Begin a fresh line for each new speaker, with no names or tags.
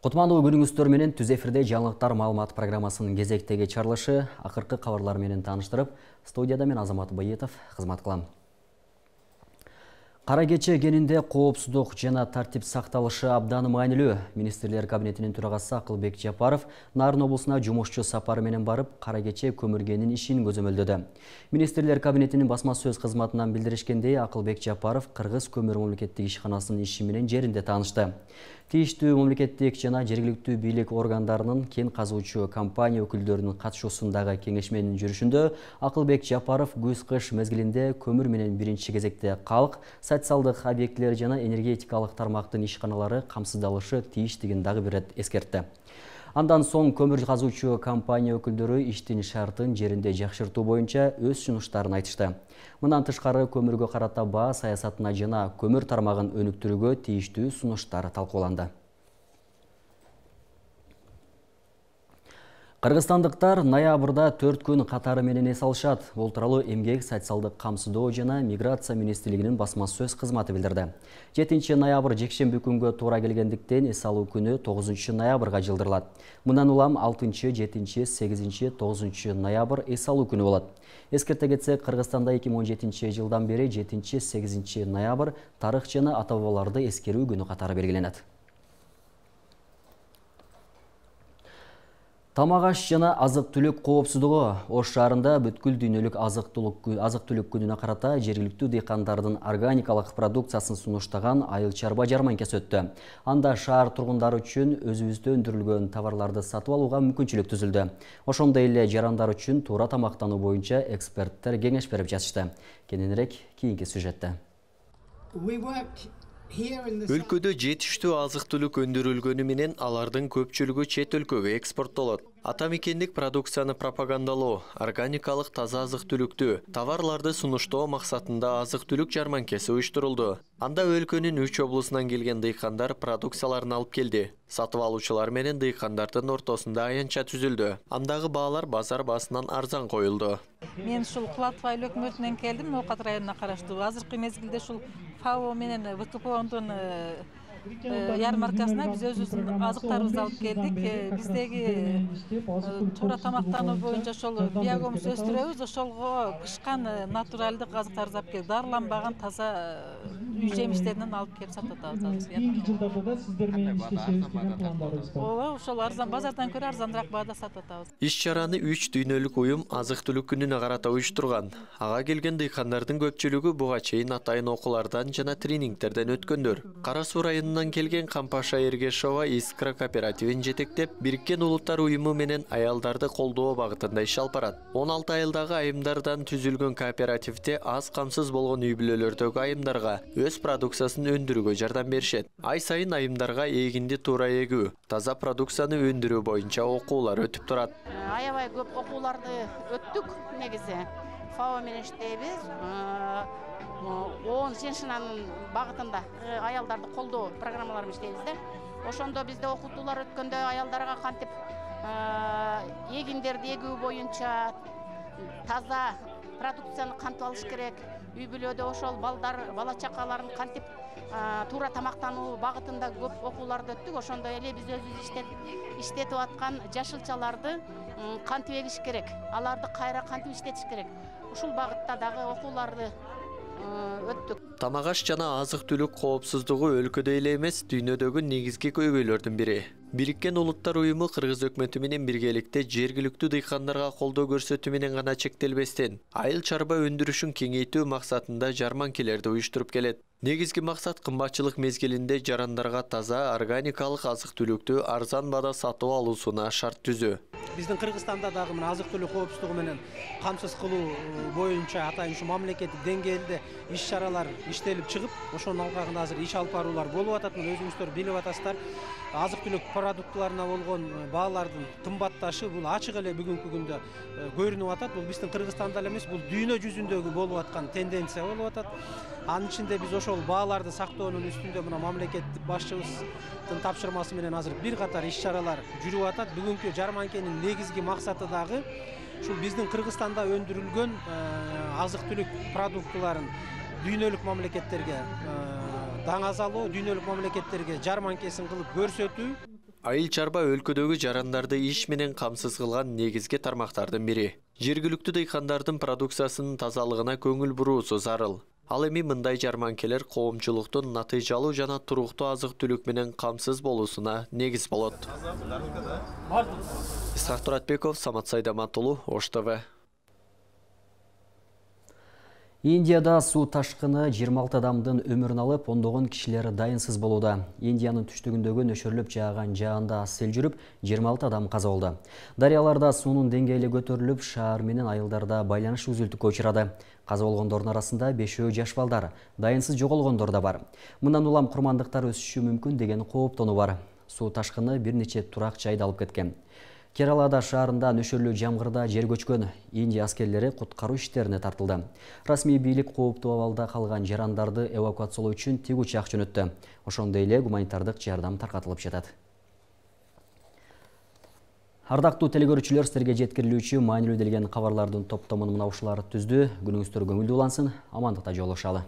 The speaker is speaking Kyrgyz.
Кутмандуу күнүңүздөр менен түз эфирде жаңылыктар маалымат программасынын кезектеги чарылышы акыркы кабарлар менен тааныштырып, студияда мен Азамат Байетов кызмат кылам. Кара кече кенинде коопсуздук жана тартип сакталышы абдан маанилүү. Министрлер кабинетинин төрагасы Акылбек Жапаров Нарын облусуна жумушчу сапары менен барып, кара кече көмүргенин ишин көзөмөлдөдү. Министрлер кабинетинин басма сөз кызматынан билдиришкендей, Акылбек Жапаров Кыргыз көмүр мамлекеттик ишканасынын иши менен жеринде таанышты. Тийиштүү мамлекеттик жана жергиликтүү бийлик органдарынын кен казуучу компания өкүлдөрүнүн катышуусундагы кеңешменин жүрүшүндө Акылбек Жапаров күз-кыш мезгилинде көмүр менен биринчи кезекте калк, социалдык объектилер жана энергетикалык тармактын ишканалары камсыздалышы тийиштигин дагы бир рет эскертти. Андан соң көмүр казуучу компания өкүлдөрү иштин шартын жеринде жакшыртуу боюнча өз сунуштарын айтышты. Мындан тышкары көмүргө карата баа саясатына жана көмүр тармагын өнүктүрүүгө тийиштүү сунуштар талкууланды. Кыргызстандыктар ноябрда 4 күн катары менен эс алышат. Бул тууралуу Эмгек, социалдык камсыздоо жана миграция министрлигинин басма сөз кызматы билдирди. 7 ноябрь жекшемби күнгө туура келгендиктен эс алуу күнү 9 ноябрга жылдырылат. Мындан улам 6, 7, 8, 9 ноябрь эс алуу күнү болот. Эскерте кетсек, Кыргызстанда 2017 жылдан бери 7, 8 ноябрь тарых жана ата бабаларды эскерүү күнү катары белгиленет. Тамак аш жана азык-түлүк коопсуздугу. Ош шаарында бүткүл дүйнөлүк азык-түлүк күнүнө карата жергиликтүү дыйкандардын органикалык продукциясын сунуштаган айыл чарба жарманкасы өттү. Анда шаар тургундары үчүн өзүбүздө өндүрүлгөн товарларды сатып алууга мүмкүнчүлүк түзүлдү. Ошондой эле жарандар үчүн туура тамактануу боюнча эксперттер кеңеш берип жатышты. Кененирээк кийинки сюжетте.
Өлкөдө жетиштүү азык-түлүк өндүрүлгөнү менен алардын көпчүлүгү чет өлкөгө экспорттолот. Ата мекендик продукцияны пропагандалоо, органикалык таза азык-түлүктүү товарларды сунуштоо максатында азык-түлүк жарманкеси уюштурулду. Анда өлкөнүн 3 облусунан келген дыйкандар продукцияларын алып келди. Сатып алуучулар менен дыйкандардын ортосунда аянтча түзүлдү. Андагы баалар базар баасынан арзан коюлду.
Мен ушул Кулатов айыл өкмөтүнөн келдим, Ноокат районуна караштуу. Азыркы мезгилде ушул ФАО менен ВКПОндун ярмаркасына биз өзүбүздүн азыктарыбызды алып келдик. Биздеги туура тамактануу боюнча ошол биогомус өстүрөбүз, ошолго кышкан натуралдык азыктарды алып келип, дарыланбаган таза үй жемиштеринен алып келип сатып атабыз.
Кийинки жылдарда да сиздер менен иштештериңиздин пландарыңыз бар.
Ооба, ошол арзан базардан көрө арзаныраак баада сатып атабыз.
Иш-чараны 3 дүйнөлүк уюм азык-түлүк күнүнө карата уюштурган. Ага келген дыйкандардын көпчүлүгү буга чейин атайын окуулардан жана тренингтерден өткөндөр. Кара Суу районунан келген Кампаша Эргешова Искра кооперативин жетектеп, Бириккен Улуттар уюму менен аялдарды колдоо багытында иш алып барат. 16 айылдагы айымдардан түзүлгөн кооперативде аз камсыз болгон үй бүлөлөрдөгү айымдарга өз продукциясын өндүрүүгө жардам беришет. Ай сайын айымдарга эгинди туура эгүү, таза продукцияны өндүрүү боюнча окуулар өтүп турат.
Аябай көп окууларды өттүк негизи. ФАО менен иштейбиз. 10 женщинанын багытында аялдарды колдоо программаларын иштейбиз да. Ошондо бизде окутуулар өткөндө аялдарга кантип эгиндерди эгүү боюнча таза продукцияны кантип алыш керек, үй бүлөдө ошол балдар, бала чакаларын кантип туура тамактануу багытында көп окууларды өттүк. Ошондой эле биз өзүбүз иштетип аткан жашылчаларды кантип эгиш керек, аларды кайра кантип иштетиш керек. Ушул багытта дагы окууларды өттүк.
Тамак аш жана азык-түлүк коопсуздугу өлкөдө эле эмес, дүйнөдөгү негизги көйгөйлөрдүн бири. Бириккен Улуттар уюму Кыргыз өкмөтү менен биргеликте жергиликтүү дыйкандарга колдоо көрсөтүү менен гана чектелбестен, айыл чарба өндүрүшүн кеңейтүү максатында жарманкелерди уюштуруп келет. Негизги максат кымбатчылык мезгилинде жарандарга таза органикалык азык-түлүктү арзан баада сатып алуусуна шарт түзүү.
Биздин Кыргызстанда дагы мына азык-түлүк коопсуздугу менен камсыз кылуу боюнча атайын ушу мамлекеттик деңгээлде иш-чаралар иштелип чыгып, ошонун алкагында азыр иш алып баруулар болуп атат. Мына өзүңүздөр билип атасыздар. Азык-түлүк продуктларына болгон баалардын кымбатташы бул ачык эле бүгүнкү күндө көрүнүп атат. Бул биздин Кыргызстанда эле эмес, бул дүйнө жүзүндөгү болуп аткан тенденция болуп атат. Анын ичинде биз ошол бааларды сактоонун үстүндө мына мамлекеттик башчыбыздын тапшырмасы менен азыр бир катар иш-чаралар жүрүп атат. Бүгүнкү жарманкенин негизги максаты дагы ушул биздин Кыргызстанда өндүрүлгөн азык-түлүк продуктларын дүйнөлүк мамлекеттерге даңазалоо, дүйнөлүк мамлекеттерге жарманкесин кылып көрсөтүү.
Айыл чарба өлкөдөгү жарандарды иш менен камсыз кылган негизги тармактардын бири. Жергиликтүү дыйкандардын продукциясынын тазалыгына көңүл буруусу зарыл. Ал эми мындай жарманкелер коомчулуктун натыйжалуу жана туруктуу азык-түлүк менен камсыз болуусуна негиз болот. Исхак Туратбеков, Самат Сайдаматулу, Ош ТВ.
Индияда суу ташкыны 26 адамдын өмүрүн алып, ондогон кишилер дайынсыз болууда. Индиянын түштүгүндөгү нөшөрлөп жааган жаанда сел жүрүп, 26 адам каза болду. Дарыяларда суунун деңгээли көтөрүлүп, шаар менен айылдарда байланыш үзүлтүккө учурады. Каза болгондордун арасында 5 жаш балдар, дайынсыз жоголгондор да бар. Мындан улам курмандыктар өсүшү мүмкүн деген кооптонуу бар. Суу ташкыны бир нече турак жайды алып кеткен. Кералада шаарында нөшөрлүү жамгырда жер көчкөн. Индия аскерлери куткаруу иштерине тартылды. Расмий бийлик кооптуу абалда калган жарандарды эвакуациялоо үчүн тигучак жөнөттү. Ошондой эле гуманитардык жардам таркатылып жатат. Ардактуу телекөрүүчүлөр, силерге жеткирилүүчү маанилүү делген кабарлардын топтомун мына ушулар түздү. Күнүңүздөр көңүлдүү улансын. Амандыкта жолугушалы.